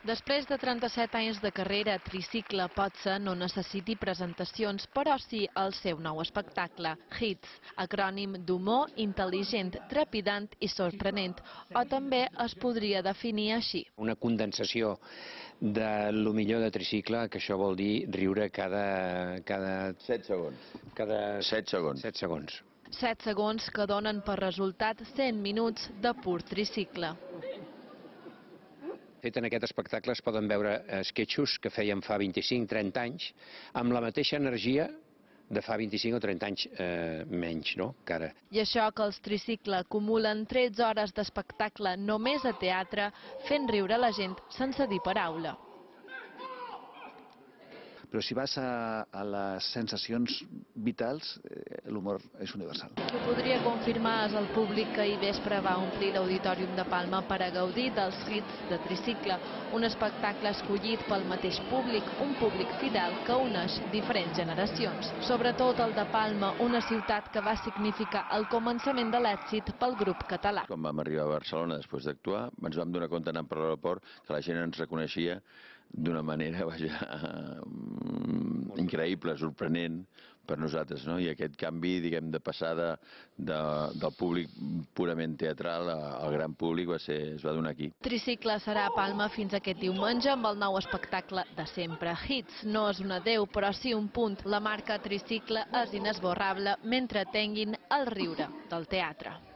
Després de 37 anys de carrera, Tricicle potser no necessiti presentacions, però sí el seu nou espectacle, Hits, acrònim d'humor intel·ligent, trepidant i sorprenent, o també es podria definir així. Una condensació de lo millor de Tricicle, que això vol dir riure cada 7 segons. Cada 7 segons. 7 segons. 7 segons que donen per resultat 100 minuts de pur Tricicle. Fet en aquest espectacle es poden veure esquetxos que fèiem fa 25-30 anys amb la mateixa energia de fa 25 o 30 anys menys, no? Que ara. I això que els Tricicle acumulen 13 hores d'espectacle només a teatre, fent riure la gent sense dir paraula. Però si vas a les sensacions vitals, l'humor és universal. Qui ho podria confirmar és el públic que ahir vespre va omplir l'Auditorium de Palma per a gaudir dels hits de Tricicle, un espectacle escollit pel mateix públic, un públic fidel que uneix diferents generacions. Sobretot el de Palma, una ciutat que va significar el començament de l'èxit pel grup català. Quan vam arribar a Barcelona després d'actuar, ens vam donar compte anant per l'aeroport que la gent ens reconeixia d'una manera increïble, sorprenent per nosaltres, no? I aquest canvi, diguem, de passada del públic purament teatral al gran públic es va donar aquí. Tricicle serà a Palma fins aquest diumenge amb el nou espectacle de sempre. Hits no és un adeu, però sí un punt. La marca Tricicle és inesborrable mentre tinguin el riure del teatre.